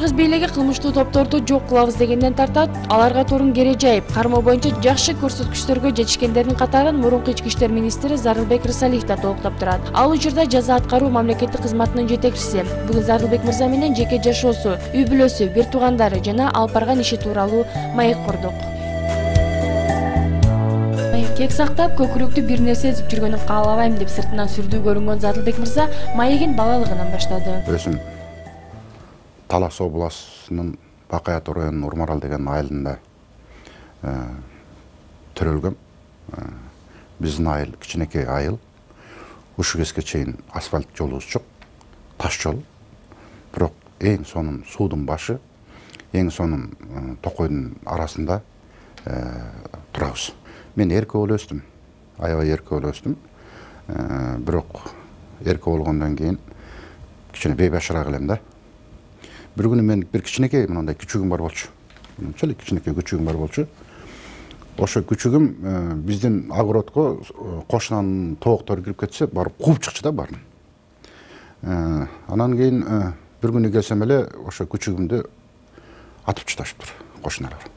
Кыргыз бийлиги кылмыштуу топторду жок кылабыз дегенден тартат, аларга турун кере жайып, кармоо боюнча жакшы көрсөткүчтөргө жетишкендердин катарын мурунку ички иштер министри Зарылбек Рысалиев да толуктап турат. Ал учурда жаза аткаруу мамлекеттик кызматынын жетекчиси. Бүгүн Зарылбек мырза менен жеке жашоосу, үй бүлөсү, бир туугандары жана алып барган иши тууралуу маек курдук. Кек сактап, көкүрөктү бир нерсе эзип жүргөнүн каалабайм деп сыртынан сүрдүү көрүнгөн Зарылбек мырза маегин балалыгынан баштады. Өзүм Талас областынын Бакай ата районунун Урмарал деген айылында төрөлгөм. Биздин айыл кичинекей айыл. Ушул кезге чейин асфальт жолубуз жок, таш жол. Бирок эң сонун суудун башы, эң сонун токойдун арасында турабыз. Мен эрке болуп өстүм. Аябай эрке болуп өстүм. Бирок эрке болгондон кийин кичине бейбашыраак элем да. Bir günü men bir kичинекей мындай күчүгүм бар болчу. Мынча эле кичинекей күчүгүм бар болчу. Ошо күчүгүм биздин огородко кошунанын тооктору кирип кетсе, барып кууп чыкчу да баарын. Анан кийин bir күнү келсем эле ошо күчүгүмдү атып таштаптыр кошуналар.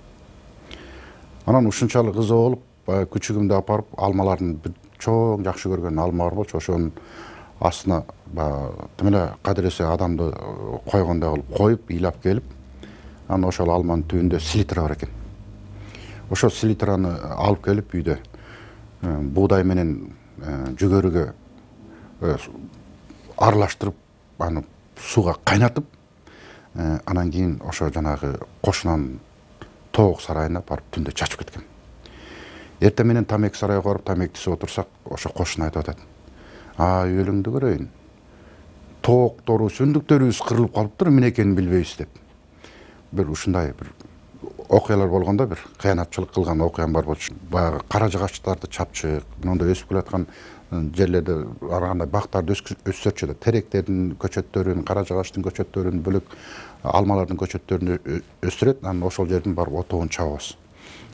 Анан ушунчалык ыза болуп, күчүгүмдү апарып алмалардын бир чоң жакшы көргөн алма бар болчу, ошонун астына тим эле кадыресе адамды койгондой кылып коюп, ыйлап келип, анан ошол алманын түбүндө селитра бар экен. Ошол селитраны алып келип үйдө буудай менен жүгөрүгө аралаштырып, аны сууга кайнатып, анан кийин ошо жанагы кошунанын тоок сарайына барып түндө чачып кеткен. Эртең менен тамеки сарайга барып тамеки тизип отурсак, ошо кошуна айтып атат. Өлүңдү көрөйүн. Тооктору, сүндүктөрүбүз кырылып калыптыр, эмне экенин билбейбиз деп. Бир ушундай бир окуялар болгондо, бир кыянатчылык кылган окуям бар болчу. Баягы кара жагачтарды чапчык, мондой өсүп келаткан жерлерде андай бактарды өстүрчү да, теректердин көчөттөрүн, кара жагачтын көчөттөрүн, бөлөк алмалардын көчөттөрүн өстүрөт, анан ошол жердин барып отогун чабабыз.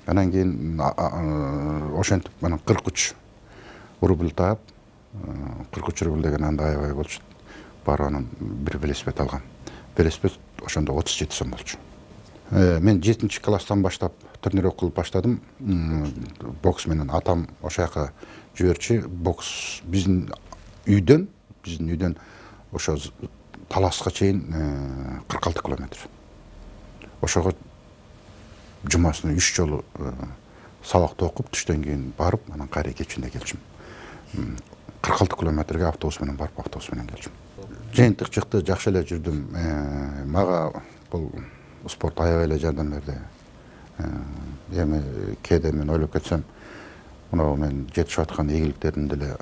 Анан кийин ошентип анан 43 рубль таап, 43 рубль деген андай аябай болчу. Бар анан бир велосипед алган. Велосипед ошондо 37 сом болчу. Мен 7-класстан баштап тренировка кылып баштадым. Бокс менен атам ошо жака жиберчи. Бокс биздин үйдөн ошо Таласка чейин 46 километр. Ошого жумасына 3 жолу сабакты окуп, түштөн кийин барып, анан кайра кечинде келчим. 46 километрге автобус менен барып, автобус менен келчим. Жыйынтык чыкты, жакшы эле жүрдүм. Мага бул спорт аябай эле жардам берди. Эми кээде мен ойлоп кетсем, мына мен жетишип аткан ийгиликтердин деле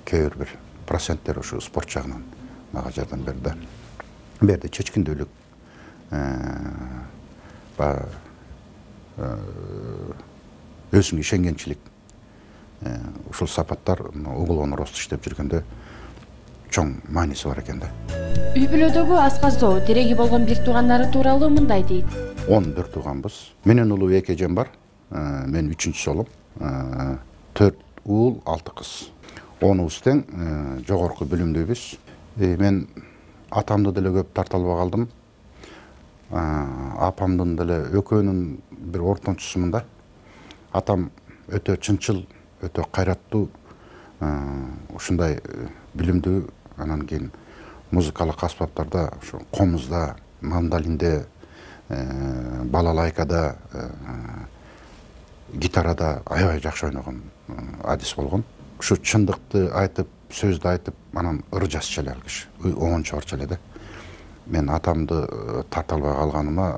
кээ бир проценттери ушу спорт жагынан мага жардам берди. Берди чечкиндүүлүк, өзүңө ишенгенчилик. Ушул сапаттар уголовный рост иштеп жүргөндө чоң мааниси бар экен да. Үй бүлөдөгү асказдоо, тереги болгон бир туугандары тууралуу мындай дейт. 11 тууганбыз. Менен улуу 2 эжем бар. Мен 3-чү болом. 4 уул, 6 кыз. Онубуз тең жогорку билимдүүбүз. Мен атамды деле көп тарта албай калдым. Апамдын деле экөөнүн бир ортончусумун да. Атам өтө чынчыл, өтө кайраттуу, ушундай билимдүү. Анан кийин музыкалык аспаптарда, ошо комузда, мандолинде, балалайкада, гитарада аябай жакшы ойногон адис болгон. Ушу чындыкты айтып, сөздү айтып, анан ыр жазчу эле ал киши. Оңон чыгарчу эле да. Мен атамды тарта албай калганыма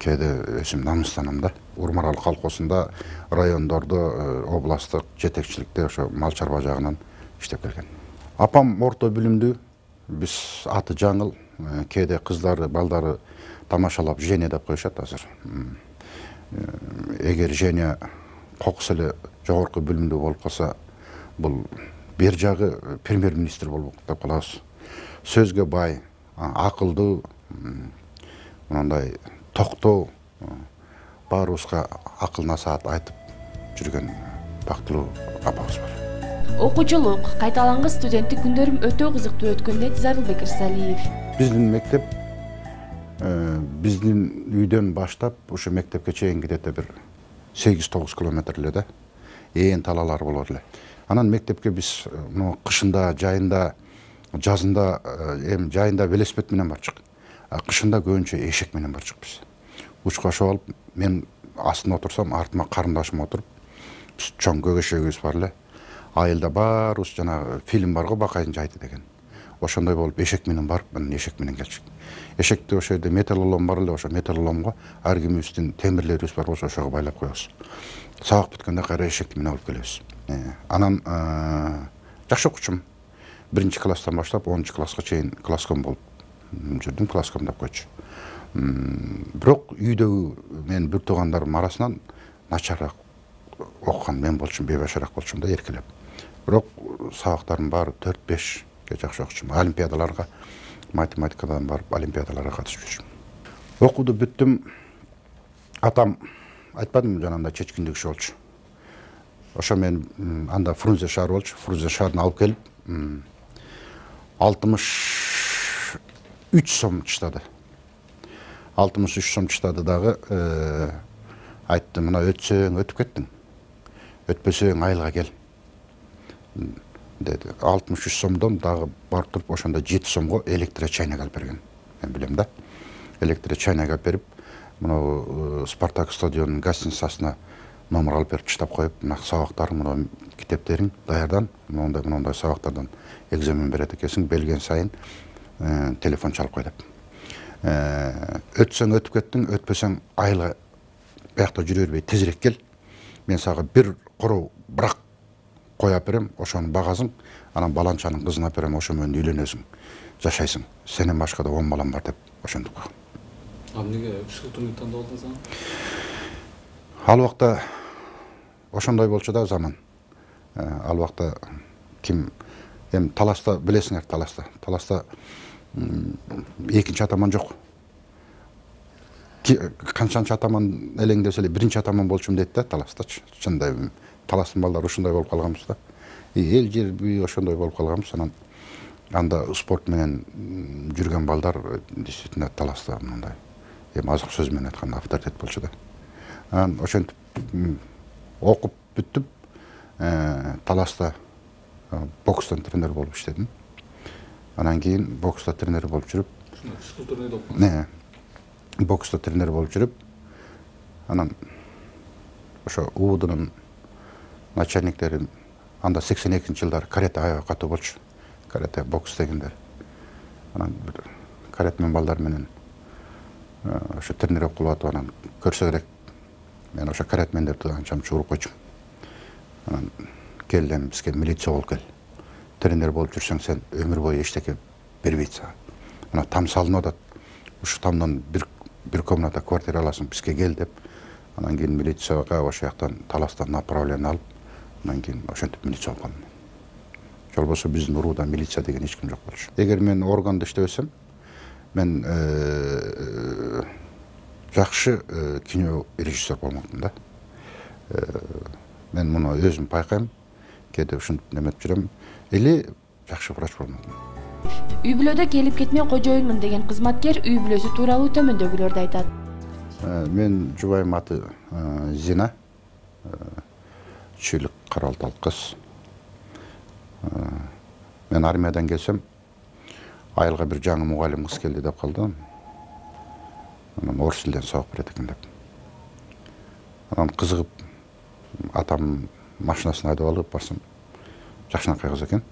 кээде өзүм намыстанам да. Урмарал колхозунда, райондордо, областтык жетекчиликте ошо мал чарба жагынан иштеп келген. Апам орто билимдүү, биз аты жаңыл, кээде кыздары, балдары тамашалап Женя деп коюшат азыр. Эгер Женя кокус эле жогорку билимдүү болуп калса, бул бир жагы премьер-министр болуп деп калабыз. Сөзгө бай, акылдуу, мындай токтоо, баарыбызга акыл насаат айтып жүргөн бактылуу апабыз бар. Окуучулук, кайталангыс студенттик күндөрүм өтө кызыктуу өткөн дейт Зарылбек Рысалиев. Биздин мектеп биздин үйдөн баштап ушу мектепке чейин где-то бир 8-9 километр эле да. Ээн талалар болот эле. Анан мектепке биз кышында, жайында, жазында, жайында велосипед менен барчык. Кышында көбүнчө эшек менен барчык биз. Учкашып алып, мен астына отурсам, артыма карындашым отуруп, биз чоң көгөшөгүбүз бар эле. Айылда баарыбыз жанагы фильм бар го Бакайдын жайты деген. Ошондой болуп эшек менен барып, мен эшек менен келчүк. Эшекти ошо жерде металлолом бар эле, ошо металлоломго ар кимибиздин темирлерибиз бар болсо ошого байлап коебуз. Сабак бүткөндө кайра эшекти менен алып келебиз. Анан жакшы окуучумун. 1-класстан баштап 10-класска чейин класском болуп жүрдүм, класском деп койчу. Бирок үйдөгү мен бир туугандарым арасынан начарраак окуган мен болчумун, бейбашараак болчумун да эркелеп. Бирок сабактарым баары 4-5ге жакшы окучумун. Олимпиадаларга, математикадан барып олимпиадаларга катышып жүрчүмүн. Окууду бүттүм. Атам айтпадымбы жанагындай чечкиндүү киши болчу. Ошо мен анда Фрунзе шаары болчу. Фрунзе шаарын алып келип 63 сом чыктады. 63 сом чыктады дагы айтты, мына өтсөң өтүп кеттиң. Өтпөсөң айылга кел. Деди. 63 сомдон дагы барып туруп ошондо 7 сомго электрочайнек алып берген. Мен билем да. Электрочайнек алып берип, мына Спартак стадионунун гостиницасына номер алып берип чыштап коюп, мына сабактарың, мына китептериң даярдан, мондай сабактардан экзамен берет экенсиң, белген сайын телефон чалып кой деп. Өтсөң өтүп кеттиң, өтпөсөң айылга биякта жүрө бербей тезирээк кел. Мен сага бир короо брак коюп берем, ошонун багасың, анан баланчанын кызын алып берем, ошо менен үйлөнөсүң, жашайсың. Сенен башка да 10 балам бар деп ошентип койгон. Эмнеге психотурник тандап алдыңыз аны? Ал убакта ошондой болчу да заман. Ал убакта ким таласта билесиңер, таласта экинчи атаман жок. Канчанчы атаман элеңдесе эле биринчи атаман болчумун дейт да таластачы. Чындай таластын балдары ушундай болуп калганбыз да. Эл жер бүй ошондой болуп калганбыз. Анан анда спорт менен жүргөн балдар действительно таласта мындай азык сөз менен айтканда авторитет болчу да. Анан ошентип окуп бүттүп, таласта бокстан тренер болуп иштедим. Анан кийин бокста тренер болуп жүрүп, бокста тренер болуп жүрүп, анан ошо УУДнун начальниктери анда 82-жылдары карате аябай катуу болчу. Карате бокс дегендер. Анан бир каратмен балдар менен ошо тренировка кылып атып, анан көрсө керек. Мен ошо каратмендерди анча-мынча уруп койчумун. Анан келдим, бизге милиция болуп кел. Тренер болуп жүрсөң, сен өмүр бою эчтеке бербейт сага. Мына там салынып атат. Ушу тамдан бир комната квартира аласың, бизге кел деп. Анан кийин милицияга ошо жактан таластан направление алып, анан кийин ошентип милиция болуп калдым. Жолбосо биздин урууда милиция деген эч ким жок болчу. Эгер мен органда иштебесем, мен жакшы кино режиссер болмокмун да. Мен муну өзүм байкайм, кээде ушинтип неметип жүрөм. Или жакшы врач болмокмун. Үй бүлөдө келип кетмей кожоюнмун деген кызматкер үй бүлөсү тууралуу төмөндөгүлөрдү айтат. Мен жубайым аты Зина. 3 жылдык каралтал кыз. Мен армиядан келсем, айылга бир жаңы мугалим кыз келди деп калдым. Анан орус тилден сабак берет экен деп. Анан кызыгып, атам машинасын айдап алып барсам, жакшынакай кыз экен.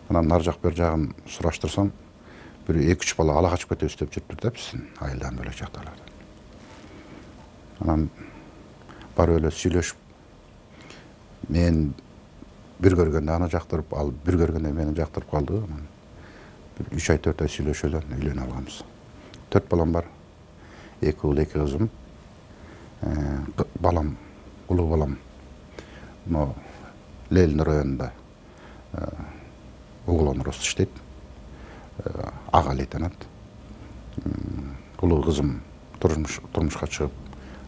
Анан нар жак бер жагын сураштырсам, бир 2-3 бала ала качып кетебиз деп жүрүптүр да биздин айылдан бөлөк жактарлардан. Анан барып эле сүйлөшүп, мен бир көргөндө аны жактырып, ал бир көргөндө мени жактырып калды. Анан бир 3 ай 4 ай сүйлөшүп эле үйлөнүп алганбыз. 4 балам бар. 2 уул, 2 кызым. Балам, улуу балам, но Лелин районунда уголонрост иштейт. Ага лейтенант. Улуу кызым турмушка чыгып,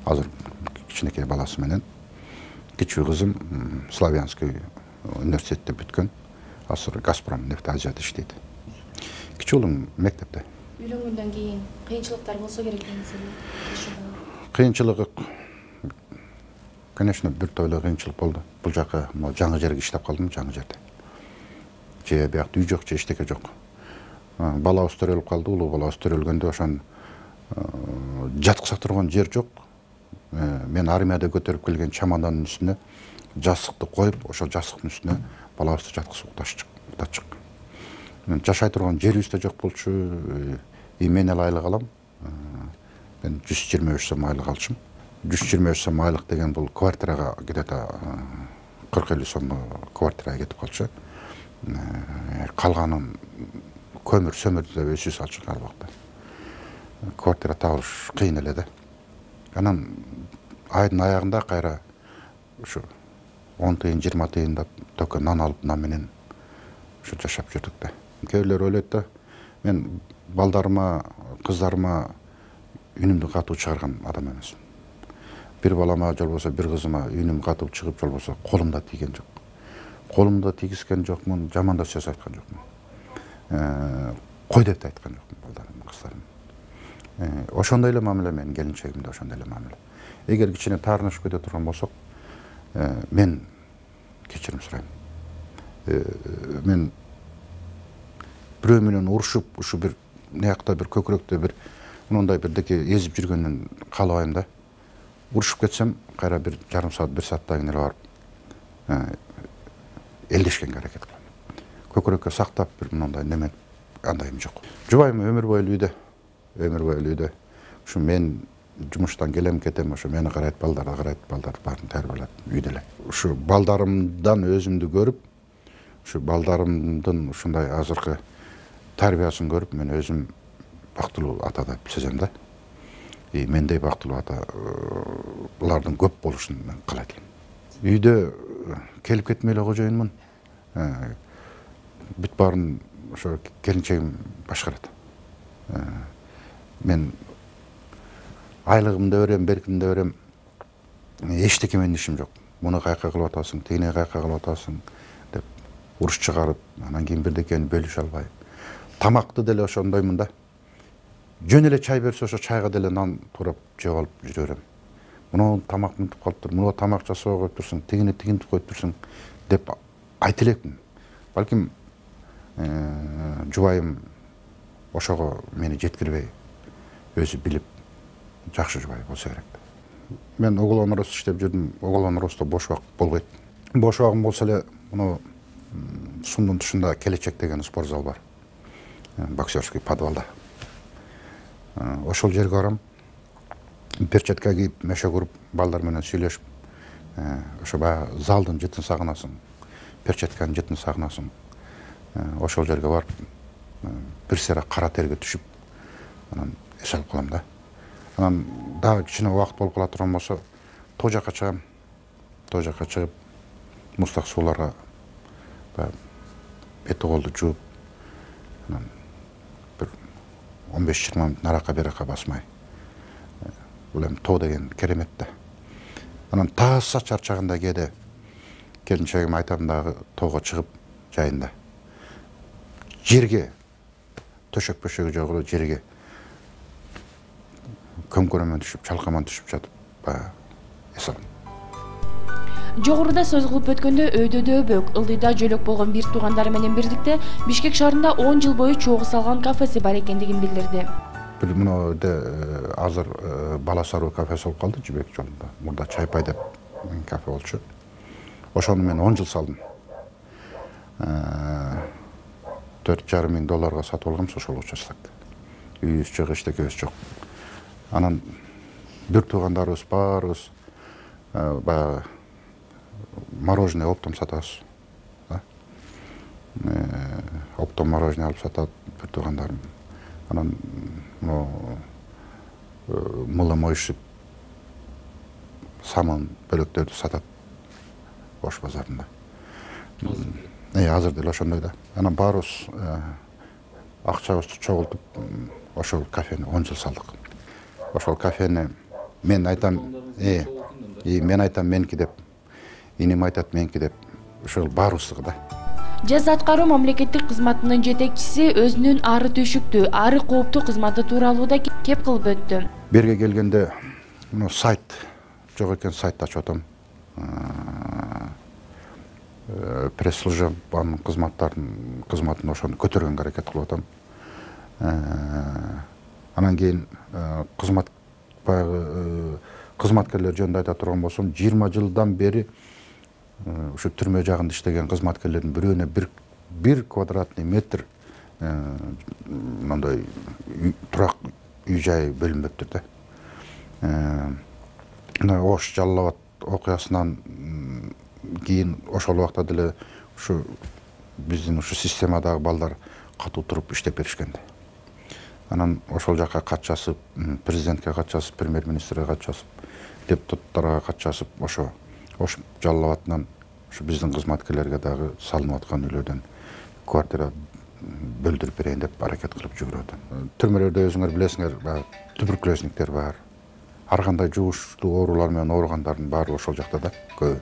азыр кичинекей баласы менен. Кичүү кызым Славянский университетте бүткөн. Азыр Газпром нефть Азияда иштейт. Кичүү уулум мектепте. Үйлөнгөндөн кийин кыйынчылыктар болсо керек деңиз. Кыйынчылыгы, конечно, бир тойло кыйынчылык болду. Бул жака жаңы жерге иштеп калдым, жаңы жерде. Же биякта үй жок, же эчтеке жок. Балабыз төрөлүп калды, улуу балабыз төрөлгөндө ошон жаткыза турган жер жок. Мен армияда көтөрүп келген чамадандын үстүнө жастыкты коюп, ошол жастыктын үстүнө балабызды жаткызып уктатчык. Жашай турган жерибиз да жок болчу. Мен эле айлык алам. Мен 123 сом айлык алчумун. 123 сом айлык деген бул квартирага где-то 40-50 сомго квартирага кетип калчу. Калганын көмүр сөмүрдү да өзүбүз алчук ар убакта. Квартира табылыш кыйын эле да. Анан айдын аягында кайра ушу 10 тыйын, 20 тыйын только нан алып, нан менен ушу жашап жүрдүк да. Кээ бирлер ойлойт да, мен балдарыма, кыздарыма үнүмдү катуу чыгарган адам эмесмин. Бир балама, же болбосо бир кызыма үнүм катуу чыгып, же болбосо колумда тийген жок. Колумда тийгизген жокмун, жаман да сөз айткан жокмун. Кой деп да айткан жокмун балдарыма, кыздарыма. Ошондой эле мамиле менин келинчегимде, ошондой эле мамиле. Эгер кичине таарынышып кете турган болсок, мен кечирим сурайм. Мен бирөө менен урушуп, ушу бир наякта бир көкүрөктө бир мындай бирдеке эзип жүргөндөн каалабайм да. Урушуп кетсем, кайра бир жарым саат, 1 сааттан кийин эле барып элдешкенге аракет кылам. Көкүрөккө сактап бир мындай неме андайым жок. Жубайым өмүр бою үйдө. Ушу мен жумуштан келем, кетем, ошо мени карайт, балдар баарын тарбиялап үйдө эле. Ушу балдарымдан өзүмдү көрүп, ушу балдарымдын ушундай азыркы тарбиясын көрүп, мен өзүм бактылуу ата деп сезем да. Мендей бактылуу ата булардын көп болушун мен каалайт элем. Үйдө келип кетмей эле кожоюнмун. Бүт баарын ошо келинчегим башкарат. Мен айлыгымды берем, беркимди берем. Эчтеке менин ишим жок. Муну кайка кылып атасың, тигине кайка кылып атасың деп уруш чыгарып, анан кийин бирдекени бөлүшө албай. Тамакты деле ошондоймун да. Жөн эле чай берсе, ошо чайга деле нан турап жеп алып жүрө берем. Муну тамак мынтип калыптыр, муну тамак жасабай коюп турсуң, тигини тигинтип коюп турсуң деп айта элекмин. Балким жубайым ошого мени жеткирбей, өзү билип жакшы жубай болсо керек. Мен Оголон Рос иштеп жүрдүм. Оголон Росто бош убак болбойт. Бош убагым болсо эле муну Сумдун тушунда Келечек деген спортзал бар. Боксерский подвалда. Ошол жерге барам. Перчатка кийип, мешок уруп, балдар менен сүйлөшүп, ошо баягы залдын жытын сагынасың, перчатканын жытын сагынасың. Ошол жерге барып, бир сыйра кара терге түшүп, анан эс алып калам да. Анан дагы кичине убакыт болуп кала турган болсо, тоо жакка чыгам. Тоо жакка чыгып, муздак сууларга бети колду жууп, анан бир 15-20 мүнөт наракка беракка басмай. Бул эми тоо деген керемет да. Анан тааса чарчаганда кээде келинчегиме айтам дагы тоого чыгып жайында. Жерге төшөк бөшөгү жок эле жерге көмкөрөмөн түшүп, чалкаман түшүп жатып, баягы эс алам. Жогоруда сөз кылып өткөндө өйдөдө өбөк, ылдыйда жөлөк болгон бир туугандары менен бирликте Бишкек шаарында 10 жыл бою чогуу салган кафеси бар экендигин билдирди. Бир мынде азыр Бала Саруу кафеси болуп калды Жибек жолунда. Мурда Чайпай деп кафе болчу. Ошону мен 10 жыл салдым. $4,5 миң сатып алгам ошол участокты. Үйүбүз жок, эчтекебиз жок. Анан бир туугандарыбыз баарыбыз баягы мороженое оптом сатабыз. Оптом мороженое алып сатат бир туугандарым. Анан мылым моюшуп самын бөлөктөрдү сатат Ош базарында. Азыр деле ошондой да. Анан баарыбыз акчабызды чогултуп ошол кафени 10 жыл салдык. Ошол кафени мен айтам, мен айтам меники деп, иним айтат меники деп, ошол баарыбыздыкы да. Жаза аткаруу мамлекеттик кызматынын жетекчиси өзүнүн ары түйшүктүү, ары кооптуу кызматы тууралуу да кеп кылып өттү. Берге келгенде мына сайт жок экен, сайт ачып атам. Пресс-службанын кызматын ошону көтөргөнгө аракет кылып атам. Анан кийин кызматкерлер жөнүндө айта турган болсом, 20 жылдан бери ушу түрмө жагында иштеген кызматкерлердин бирөөнө бир квадратный метр мындай турак үй жай бөлүнбөптүр да. Ош Жалал Абад окуясынан кийин ошол убакта деле ушу биздин ушу системадагы балдар катуу туруп иштеп беришкен. Анан ошол жака кат жазып, президентке кат жазып, премьер-министрге кат жазып, депутаттарга кат жазып, ошо Ош Жалал Абадынан ушу биздин кызматкерлерге дагы салынып аткан үйлөрдөн квартира бөлдүрүп берейин деп аракет кылып жүгүрүп атам. Түрмөлөрдө өзүңөр билесиңер, туберкулезниктер бар. Ар кандай жугуштуу оорулар менен ооругандардын баары ошол жакта да көбү.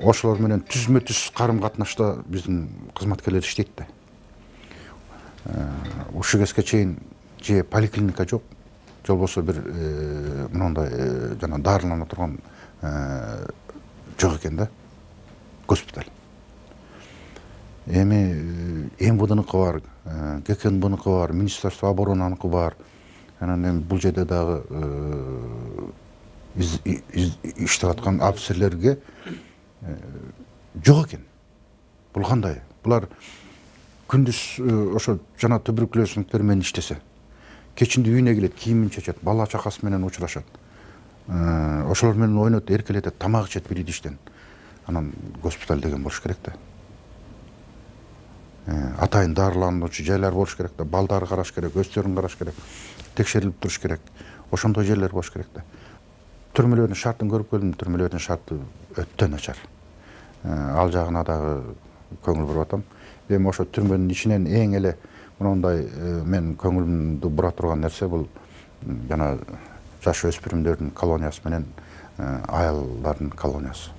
Ошолор менен түзмө-түз карым-катнашта биздин кызматкерлер иштейт да. Ушул кезге чейин же поликлиника жок, же болбосо бир мындай жана дарылана турган жок экен да, госпиталь. Эми МВДныкы бар, ГКНБныкы бар, Министерство оборонаныкы бар. Анан эми бул жерде дагы иштеп аткан офицерлерге жок экен. Бул кандай? Булар күндүз ошо жана туберкулезниктер менен иштесе, кечинди үйүнө келет, кийимин чечет, бала чакасы менен учурашат. Ошолор менен ойнойт, эркелетет, тамак ичет бир идиштен. Анан госпиталь деген болуш керек да. Атайын дарылануучу жайлар болуш керек да, балдары караш керек, өздөрүн караш керек, текшерилип туруш керек. Ошондой жерлер болуш керек да. Түрмөлөрдүн шартын көрүп келдим, түрмөлөрдүн шарты өтө начар. Ал жагына дагы көңүл буруп атам. Эми ошо түрмөнүн ичинен эң эле мындай мен көңүлүмдү бура турган нерсе бул жана жаш өспүрүмдөрдүн колониясы менен аялдардын колониясы.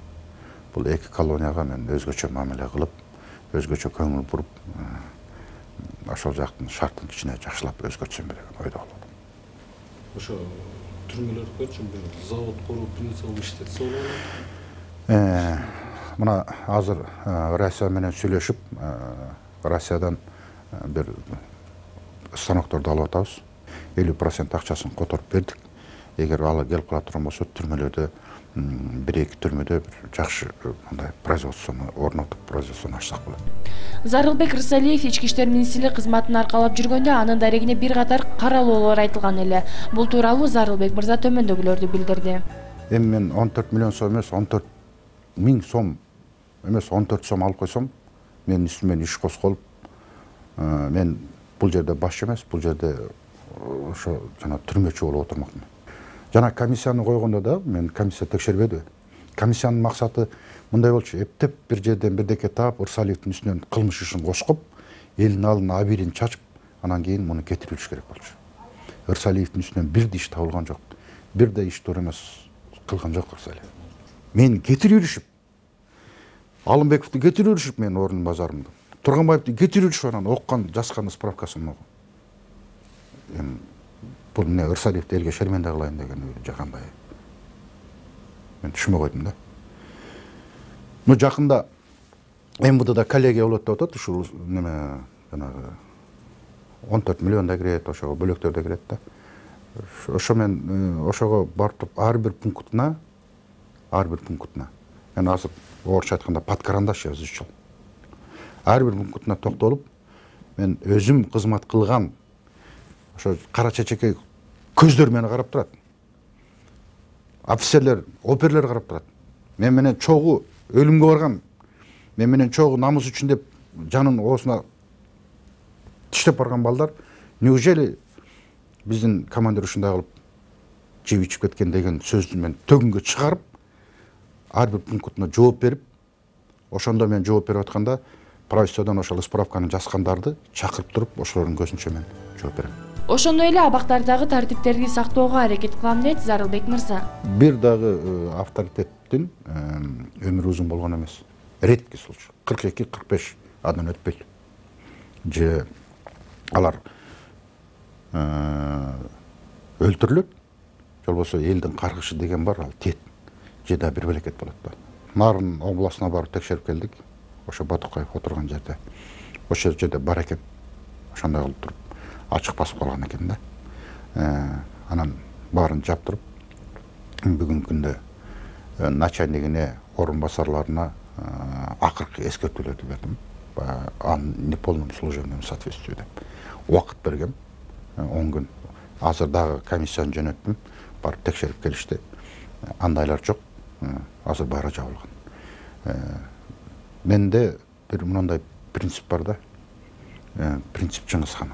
Бул эки колонияга мен өзгөчө мамиле кылып, өзгөчө көңүл буруп, ошол жактын шартын кичине жакшылап өзгөртсөм деген ойдо болот. Ошо түрмөлөрдү бир завод куруп, больница кылып иштетсе болобу? Мына азыр Россия менен сүйлөшүп, Россиядан бир станокторду алып атабыз. 50% акчасын которуп бердик. Эгер ал келип кала турган болсо, түрмөлөрдө бир-эки түрмөдө бир жакшы мындай производствону орнотуп, производствону ачсак болот. Зарылбек Рысалиев ички иштер министрлиги кызматын аркалап жүргөндө анын дарегине бир катар каралоолор айтылган эле. Бул тууралуу Зарылбек мырза төмөндөгүлөрдү билдирди. Эми мен 14 миллион сом эмес, 14 миң сом эмес, 14 сом алып койсом, менин үстүмөн иш козголуп, мен бул жерде башчы эмес, бул жерде ошо жана түрмөчү болуп отурмакмын. Жана комиссияны койгондо да мен комиссия текшербеди. Комиссиянын максаты мындай болчу: эптеп бир жерден бирдеке таап, Рысалиевдин үстүнөн кылмыш ишин кошкоп, элдин алдына абийирин чачып, анан кийин муну кетирилиш керек болчу. Рысалиевдин үстүнөн бир да иш табылган жок. Бир да иш туура эмес кылган жок Рысалиев. Мени кетирип жүрүшүп, Алымбековду кетирип жүрүшүп, менин ордун базарымды. Турганбаевди кетирип жүрүшүп, анан оккан, жазган справкасын окуп. Эми бул эмне, Рысалиевди элге шерменде кылайын деген же кандай? Мен түшүнбөй койдум да. Ну жакында МВДда коллегия болот деп атат, ушул неме жанагы 14 миллион да кирет, ошого бөлөктөр да кирет да. Ошо мен ошого барып ар бир пунктуна мен азыр орусча айтканда под карандаш жазып. Ар бир пунктуна токтолуп, мен өзүм кызмат кылган ошо кара чечекей көздөр мени карап турат. Офицерлер, оперлер карап турат. Мен менен чогуу өлүмгө барган, мен менен чогуу намыс үчүн деп жанын оосуна тиштеп барган балдар, неужели биздин командир ушундай кылып жеп ичип кеткен деген сөздү мен төгүнгө чыгарып, ар бир пунктуна жооп берип, ошондо мен жооп берип атканда правительстводон ошол справканы жазгандарды чакырып туруп, ошолордун көзүнчө мен жооп берем. Ошондой эле абактардагы тартиптерди сактоого аракет кылам дейт Зарылбек мырза. Бир дагы авторитеттин өмүрү узун болгон эмес. редкий случай 42-45 андан өтпөйт же алар өлтүрүлөт же болбосо элдин каргышы деген бар, ал тиет же да бир белекет болот да. Нарын областына барып текшерип келдик, ошо Батукаев отурган жерде, ошол жерде бар экен, ошондой кылып туруп ачык басып калган экен да. Анан баарын жаптырып бүгүнкү күндө начальнигине, орун басарларына акыркы эскертүүлөрдү бердим. Неполном служебном соответствии деп убакыт бергем, 10 күн. Азыр дагы комиссияны жөнөттүм, барып текшерип келишти. Андайлар жок, азыр баары жабылган. Менде бир мындай принцип бар да, принцип Чыңгыз Хан.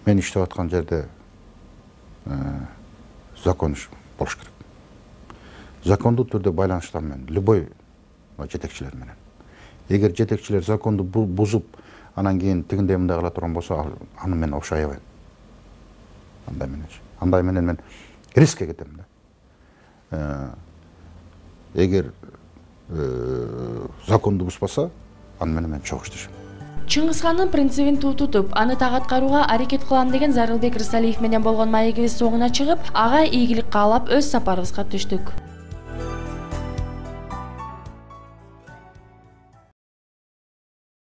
Мен иштеп аткан жерде закон болуш керек. Закондуу түрдө байланыштар менен, любой жетекчилер менен. Эгер жетекчилер законду бузуп, анан кийин тигиндей мындай кыла турган болсо, аны мен окшой аябайм. Андай менен мен рискке кетем да. Эгер законду бузбаса, аны менен мен чогуу иштешем. Чыңгыз Хандын принцибин тутуп, аны так аткарууга аракет кылам деген Зарылбек Рысалиев менен болгон маегибиз соңуна чыгып, ага ийгилик каалап өз сапарыбызга түштүк.